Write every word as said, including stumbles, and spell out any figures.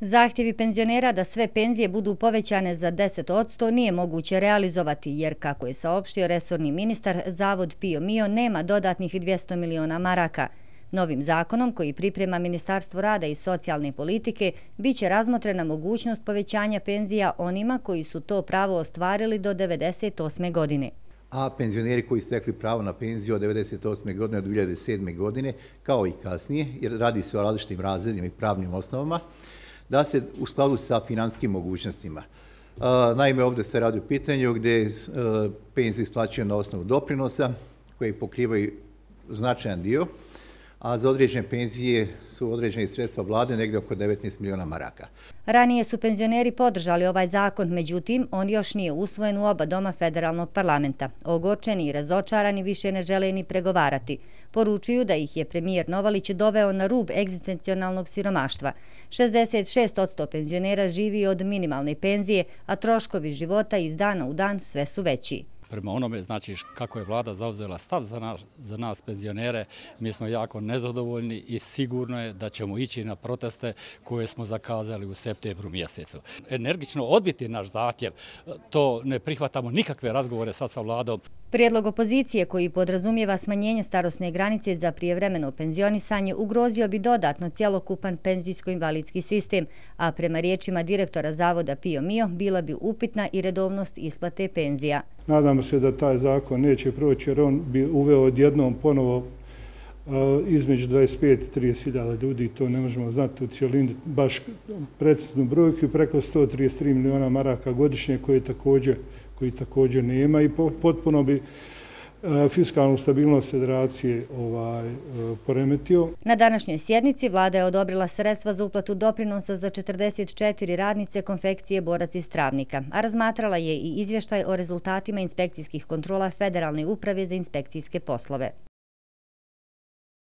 Zahtjevi penzionera da sve penzije budu povećane za deset posto nije moguće realizovati jer, kako je saopštio resorni ministar, Zavod Pio Mio nema dodatnih dvjesto miliona maraka. Novim zakonom, koji priprema Ministarstvo rada i socijalne politike, bit će razmotrena mogućnost povećanja penzija onima koji su to pravo ostvarili do devedeset osme godine. A penzioneri koji su stekli pravo na penziju od devedeset osme godine do dvije hiljade sedme godine, kao i kasnije, jer radi se o različitim razredima i pravnim osnovama, da se u skladu sa finanskim mogućnostima. Naime, ovdje se radi o pitanju gdje penzije isplaćuju na osnovu doprinosa koji pokrivaju značajan dio, a za određene penzije su određene sredstva vlade negdje oko devetnaest miliona maraka. Ranije su penzioneri podržali ovaj zakon, međutim, on još nije usvojen u oba doma federalnog parlamenta. Ogorčeni i razočarani više ne žele ni pregovarati. Poručuju da ih je premijer Novalić doveo na rub egzistencionalnog siromaštva. šezdeset šest posto penzionera živi od minimalne penzije, a troškovi života iz dana u dan sve su veći. Prema onome, znači, kako je vlada zauzela stav za nas, za nas penzionere, mi smo jako nezadovoljni i sigurno je da ćemo ići na proteste koje smo zakazali u septembru mjesecu. Energično odbiti naš zahtjev, to ne prihvatamo nikakve razgovore sad sa vladom. Prijedlog opozicije, koji podrazumijeva smanjenje starosne granice za prijevremeno penzionisanje, ugrozio bi dodatno cjelokupan penzijsko-invalidski sistem, a prema riječima direktora Zavoda Pio Mio bila bi upitna i redovnost isplate penzija. Nadamo se da taj zakon neće proći jer on bi uveo odjednom ponovo između dvadeset pet i trideset hiljada ljudi, to ne možemo znati u cijelini baš preciznu brojku, preko sto trideset tri miliona maraka godišnje koji također, koji također nema i potpuno bi fiskalnu stabilnost federacije ovaj, poremetio. Na današnjoj sjednici vlada je odobrila sredstva za uplatu doprinosa za četrdeset četiri radnice konfekcije Borac iz Travnika, a razmatrala je i izvještaj o rezultatima inspekcijskih kontrola Federalne uprave za inspekcijske poslove.